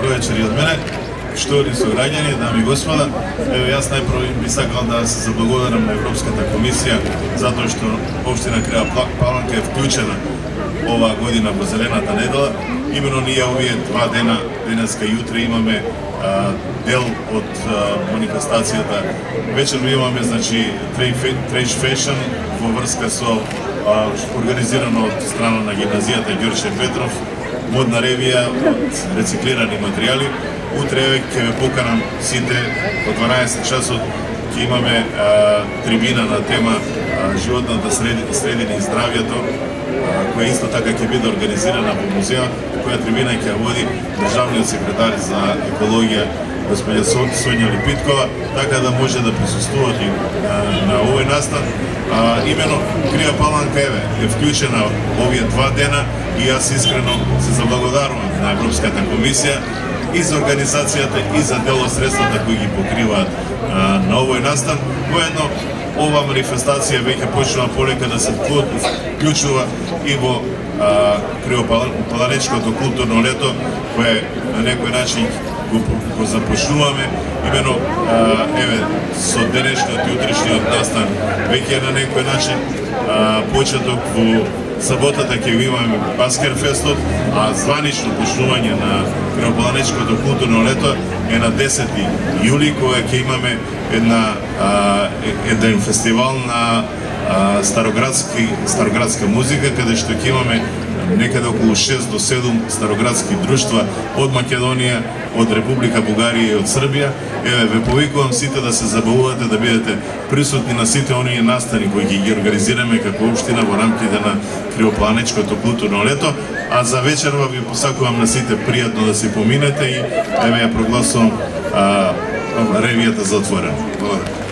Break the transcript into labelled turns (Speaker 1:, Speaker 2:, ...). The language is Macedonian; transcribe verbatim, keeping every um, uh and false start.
Speaker 1: добро вечер и од мене. Штовни сограѓани, дами и господа, еве јас најпрво би сакал да се заблагодарам на Европската комисија затоа што општина Крива Паланка е вклучена оваа година во Зелената недела. Имено ние овие два дена, денеска и утре, имаме а, дел од а, манифестацијата. Вечерно имаме, значи, Trade Fashion во врска со а, организирано од страна на гимназијата Ѓорче Петров, модна ревија од рециклирани материјали. Утре ќе ве поканам сите од дванаесет часот, ќе имаме а, трибина на тема а, животната средина и здравјето, која исто така ќе биде организирана во музеот, која трибина ќе води државниот секретар за екологија господја Сонја Липиткова, така да може да присуствувате на, на овој настан. А, имено Крива Паланка еве е вклучена овие два дена и јас искрено се заблагодарувам на Европската комисија и за организацијата и за дел од средствата кои ги покриваат а, на овој настан. Воедно ова манифестација веќе почнува полека да се вклучува и во Кривопаланечкото културно лето, кое на некој начин го, го започнуваме. Имено а, еве со денешниот и утрешниот настан веќе на некој начин а, почеток во саботата ќе го имаме Баскерфестот, а званично почнување на Кривопаланечкото културно лето е на десети јули, кога ќе имаме една а, еден фестивал на а, староградски староградска музика, каде што ќе имаме некаде околу шест до седум староградски друштва од Македонија, од Република Бугарија и од Србија. Еве, ве повикувам сите да се забавувате, да бидете присутни на сите оние настани кои ги организираме како општина во рамките на Кривопаланечкото културно лето. А за вечерва ви посакувам на сите пријатно да се поминете и еве ја прогласувам а, ревијата за отворено. Благодарам.